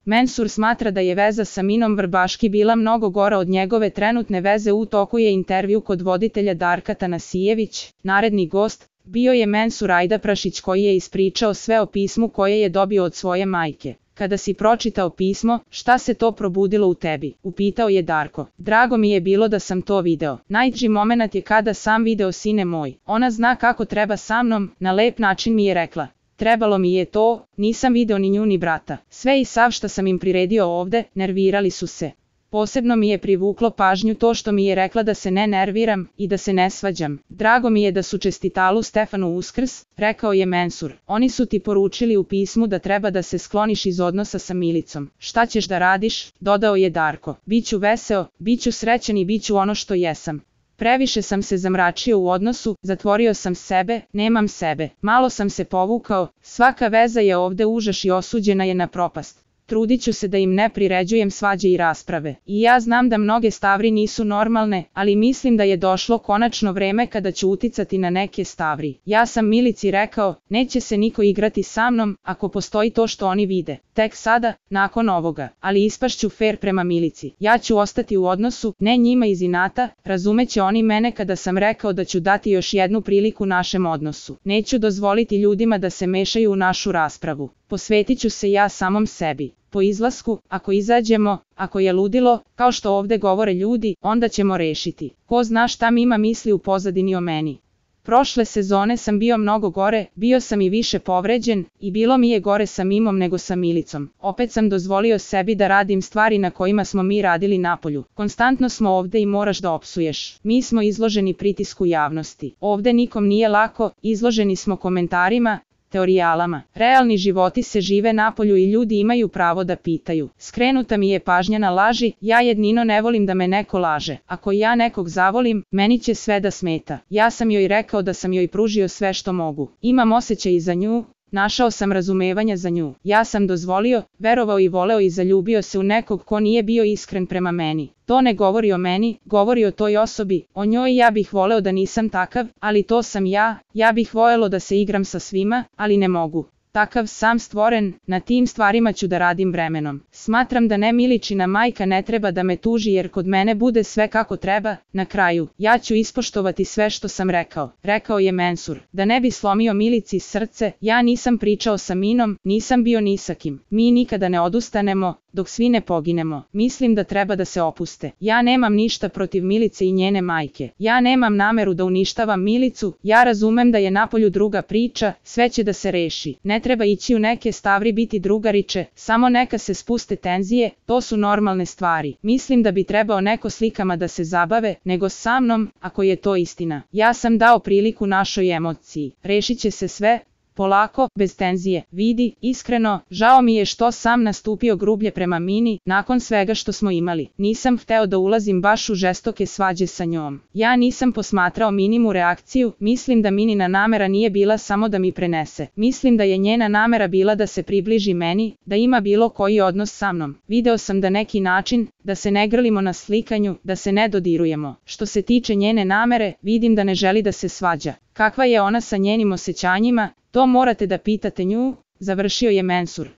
Mensur smatra da je veza sa Minom Vrbaški bila mnogo gora od njegove trenutne veze. U toku je intervju kod voditelja Darka Tanasijević. Naredni gost bio je Mensur Ajdaprašić koji je ispričao sve o pismu koje je dobio od svoje majke. Kada si pročitao pismo, šta se to probudilo u tebi? Upitao je Darko. Drago mi je bilo da sam to video. Najteži moment je kada sam video sine moj. Ona zna kako treba sa mnom, na lep način mi je rekla. Trebalo mi je to, nisam video ni nju ni brata. Sve i sav što sam im priredio ovde, nervirali su se. Posebno mi je privuklo pažnju to što mi je rekla da se ne nerviram i da se ne svađam. Drago mi je da su čestitalu Stefanu Uskrs, rekao je Mensur. Oni su ti poručili u pismu da treba da se skloniš iz odnosa sa Milicom. Šta ćeš da radiš? Dodao je Darko. Biću veseo, biću srećan i biću ono što jesam. Previše sam se zamračio u odnosu, zatvorio sam sebe, nemam sebe. Malo sam se povukao, svaka veza je ovde užas i osuđena je na propast. Trudit ću se da im ne priređujem svađe i rasprave. I ja znam da mnoge stavri nisu normalne, ali mislim da je došlo konačno vreme kada ću uticati na neke stavri. Ja sam Milici rekao, neće se niko igrati sa mnom, ako postoji to što oni vide. Tek sada, nakon ovoga, ali ispašću fer prema Milici. Ja ću ostati u odnosu, ne njima iz inata, razumeće oni mene kada sam rekao da ću dati još jednu priliku našem odnosu. Neću dozvoliti ljudima da se mešaju u našu raspravu. Posvetit ću se ja samom sebi. Po izlasku, ako izađemo, ako je ludilo, kao što ovde govore ljudi, onda ćemo rešiti. Ko zna šta Mima misli u pozadini o meni. Prošle sezone sam bio mnogo gore, bio sam i više povređen, i bilo mi je gore sa Mimom nego sa Milicom. Opet sam dozvolio sebi da radim stvari na kojima smo mi radili napolju. Konstantno smo ovde i moraš da opsuješ. Mi smo izloženi pritisku javnosti. Ovde nikom nije lako, izloženi smo komentarima, teorijalama. Realni životi se žive napolju i ljudi imaju pravo da pitaju. Skrenuta mi je pažnja na laži, ja jednino ne volim da me neko laže. Ako ja nekog zavolim, meni će sve da smeta. Ja sam joj rekao da sam joj pružio sve što mogu. Imam osjećaj i za nju, našao sam razumevanja za nju. Ja sam dozvolio, verovao i voleo i zaljubio se u nekog ko nije bio iskren prema meni. To ne govori o meni, govori o toj osobi, o njoj. Ja bih voleo da nisam takav, ali to sam ja. Ja bih voljelo da se igram sa svima, ali ne mogu. Takav sam stvoren, na tim stvarima ću da radim vremenom. Smatram da ne Miličina majka ne treba da me tuži jer kod mene bude sve kako treba. Na kraju, ja ću ispoštovati sve što sam rekao, rekao je Mensur. Da ne bi slomio Milici srce, ja nisam pričao sa Minom, nisam bio ni sa kim. Mi nikada ne odustanemo, dok svi ne poginemo. Mislim da treba da se opuste. Ja nemam ništa protiv Milice i njene majke. Ja nemam nameru da uništavam Milicu, ja razumem da je napolju druga priča, sve će da se reši. Ne treba ići u neke stavri biti drugariče, samo neka se spuste tenzije, to su normalne stvari. Mislim da bi trebao neko slikama da se zabave, nego sa mnom, ako je to istina. Ja sam dao priliku našoj emociji. Rešit će se sve, polako, bez tenzije. Vidi, iskreno, žao mi je što sam nastupio grublje prema Mini, nakon svega što smo imali. Nisam hteo da ulazim baš u žestoke svađe sa njom. Ja nisam posmatrao Mininu reakciju, mislim da Minina namera nije bila samo da mi prenese. Mislim da je njena namera bila da se približi meni, da ima bilo koji odnos sa mnom. Video sam da neki način, da se ne grlimo na slikanju, da se ne dodirujemo. Što se tiče njene namere, vidim da ne želi da se svađa. Kakva je ona sa njenim osjećanjima, to morate da pitate nju, završio je Mensur.